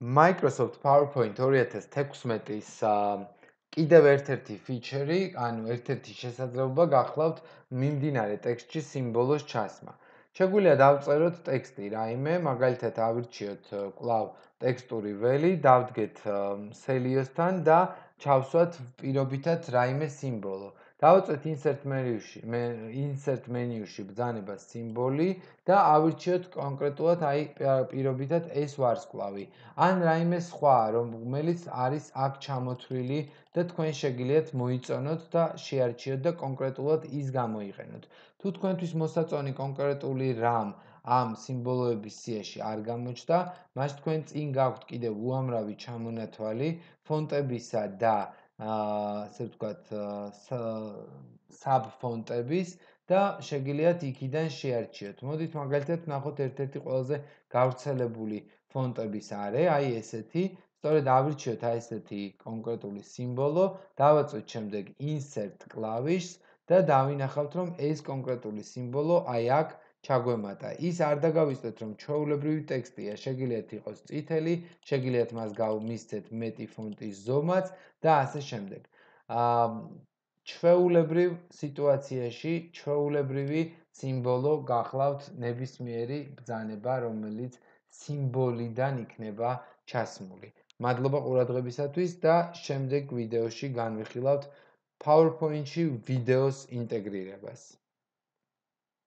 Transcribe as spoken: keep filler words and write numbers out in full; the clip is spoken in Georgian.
Microsoft PowerPoint ორი ათას თექვსმეტის კიდევ ერთ-ერთი ფიჩერი, ანუ ერთ-ერთი შესაძლებლობა გახლავთ მიმდინარე ტექსტში სიმბოლოს ჩასმა. შეგვიძლია დავწეროთ ტექსტი რაიმე, მაგალითად ავირჩიოთ კვლავ ტექსტური ველი, დავდგეთ სელიოსთან და ჩავსვათ პირობითად რაიმე სიმბოლო. დავაწვეთ insert menu-ში, insert menu-ში ბრძანება სიმბოლი და ავირჩიოთ კონკრეტულად აი პირობითად ეს ვარსკვლავი. ან რაიმე სხვა, რომელიც არის აქ ჩამოთვლილი და თქვენ შეგიძლიათ მოიწონოთ და შეარჩიოთ და კონკრეტულად ის გამოიყენოთ. თუ თქვენთვის მოსაწონი კონკრეტული რამ ამ სიმბოლოების სიაში არ გამოჩნდა, მას თქვენ წინ გაქვთ კიდევ უამრავი ჩამონათვალი ფონტებისა და ასე ვთქვათ, საბფონტების და შეგიძლიათ იქიდან შეარჩიოთ. მოდით მაგალითად ვნახოთ ერთ-ერთი ყველაზე გავრცელებული ფონტების არე, აი ესეთი, სწორედ ავირჩიოთ აი ესეთი კონკრეტული სიმბოლო, დავაწვეთ შემდეგ insert კლავიშს და დავინახავთ, რომ ეს კონკრეტული სიმბოლო აი აქ ჩაგვემატა. ის არ დაგავიწყდეთ, რომ ჩვეულებრივი ტექსტია, შეგიძლიათ იყოს წითელი, შეგიძლიათ მას გავმისცეთ მეტი ფონტის ზომაც და ასე შემდეგ. აა ჩვეულებრივ სიტუაციაში ჩვეულებრივი სიმბოლო გახლავთ ნებისმიერი ბრძანება, რომელიც სიმბოლიდან იქნება ჩასმული. მადლობა ყურადღებისათვის და შემდეგ ვიდეოში განვიხილავთ PowerPoint-ში ვიდეოს ინტეგრირებას.